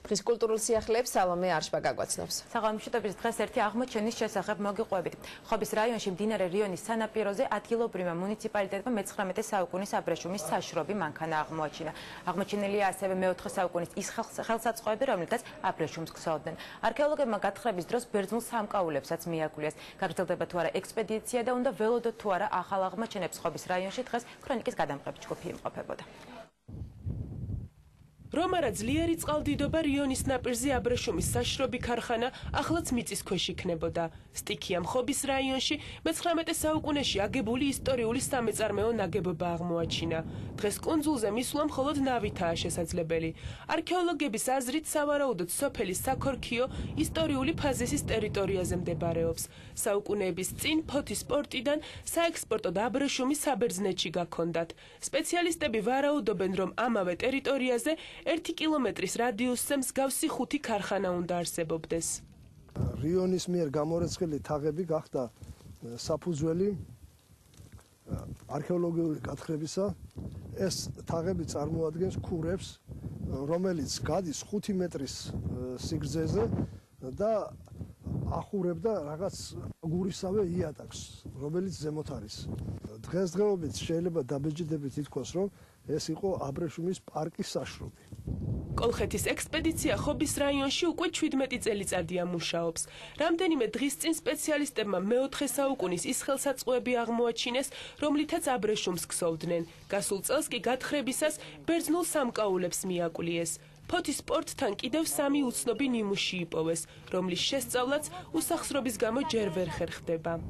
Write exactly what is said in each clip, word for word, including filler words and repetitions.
დღის კულტურულ სიახლეებს სალომე არშბა გაგვაცნობს. საღამოშიტების დღეს ერთი აღმოჩენის შესახებ მოგიყვებით. ხობის რაიონში მდინარე რიონის სანაპიროზე ადგილობრივმა მუნიციპალიტეტმა მეცხრამეტე საუკუნის აბრეშუმის საშრობი მანქანა აღმოაჩინა. აღმოჩენილია ასევე მეოთხე საუკუნის ის ხელსაწყოები, რომლითაც აბრეშუმს ქსოვდნენ. არქეოლოგებმა გათხრების დროს ბერძნულ სამკაულებსაც მიაგვლიეს. გაგრძელდება თუ არა ექსპედიცია და უნდა ველოდოთ თუ არა ახალ აღმოჩენებს ხობის რაიონში, დღეს ქრონიკის გადამღები ჯგუფი იმყოფებოდა. რომარა ძლიერი წყალდიდობა რიონის ნაპირზე აბრეშუმის საშრობი ქარხანა ახლაც მიწის ქვეშ იქნებოდა. სტიქიამ ხობის რაიონში მეცხრამეტე საუკუნეში აგებული ისტორიული სამეწარმეო ნაგებობა აღმოაჩინა. დღეს კუნძულზე მისვლა მხოლოდ ნავითაა შესაძლებელი. არქეოლოგების აზრით სავარაუდოდ სოფელი საქორქიო ისტორიული ფაზისის ტერიტორიაზე მდებარეობს. საუკუნეების წინ ფოთის პორტიდან საექსპორტო და აბრეშუმი საბერძნეთში გაქონდათ. სპეციალისტები ვარაუდობენ, რომ ამავე ტერიტორიაზე ერთი კილომეტრის რადიუსზე მსგავსი ხუთი ქარხანა უნდა არსებობდეს. რიონის მიერ გამორეცხილი თაღები გახდა საფუძველი არქეოლოგიური გათხრებისა. ეს თაღები წარმოადგენს ქურებს, რომელიც გადის ხუთი მეტრის სიგრძეზე და ახურებდა რაღაც აგურისავე იატაკს, რომელიც ზემოთ არის. დღესდღეობით შეიძლება დაბეჭდებით ითქვას, რომ ეს იყო აბრეშუმის პარკის საშრობი. კოლხეთის ექსპედიცია ხობის რაიონში უკვე ჩვიდმეტი წელიწადია მუშაობს. რამდენიმე დღის წინ სპეციალისტებმა მეოთხე საუკუნის ის ხელსაწყოები აღმოაჩინეს, რომლითაც აბრეშუმს ქსოვდნენ. გასულ წელს კი გათხრებისას ბერძნულ სამკაულებს მიაკლიეს. ფოთის პორტთან კიდევ სამი უცნობი ნიმუში იპოვეს, რომლის შესწავლაც უსახსრობის გამო ჯერ ვერ ხერხდება.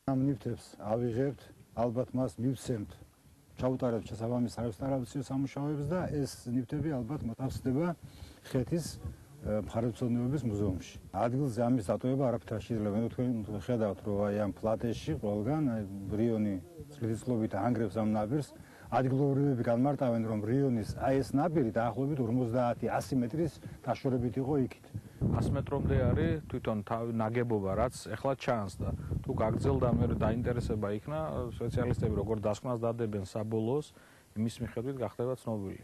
ამ ნივთებს ავიღებთ, ალბათ მას მივცემთ, ჩაუტარებთ შესაბამის არქეოლოგიურ სამუშაოებს და ეს ნივთები ალბათ მოთავსდება ხეთის მხარეთმცოდნეობის მუზეუმში. ადგილზე ამის დატოვება არაფერად შეიძლება. მე თქვენ ხედავთ, რომ აი ამ პლატეში ყველგან რიონი წლიწლობით ანგრევს ამ ნაპირს. ადგილობრივები განმარტავენ, რომ რიონის აი ეს ნაპირი დაახლოებით ორმოცდაათი ასი მეტრის დაშორებით იყო იქით. ასი მეტრამდე არის თვითონ ნაგებობა, რაც ეხლა ჩანს და თუ გაგრძელდა მე დაინტერესება იქნა, სპეციალისტები როგორ დასკვნას დადებენ საბოლოოს, იმის მიხედვით გახდება ცნობილი.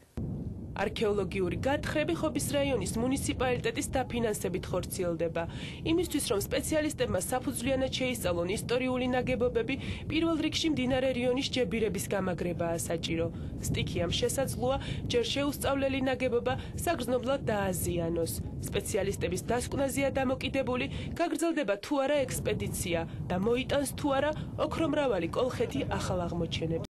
არქეოლოგიური გათხრები ხობის რაიონის მუნიციპალიტეტის დაფინანსებით ხორციელდება. იმისთვის, რომ სპეციალისტებმა საფუძვლიანად შეისწავლონ ისტორიული ნაგებობები, პირველ რიგში მდინარე რიონის ჯებირების გამაგრებაა საჭირო. სტიქიამ შესაძლოა ჯერ შეუსწავლელი ნაგებობა საგრძნობლად დააზიანოს. სპეციალისტების დასკვნაზეა დამოკიდებული, გაგრძელდება თუ არა ექსპედიცია და მოიტანს თუ არა ოქრომრავალი კოლხეთი ახალ აღმოჩენებს.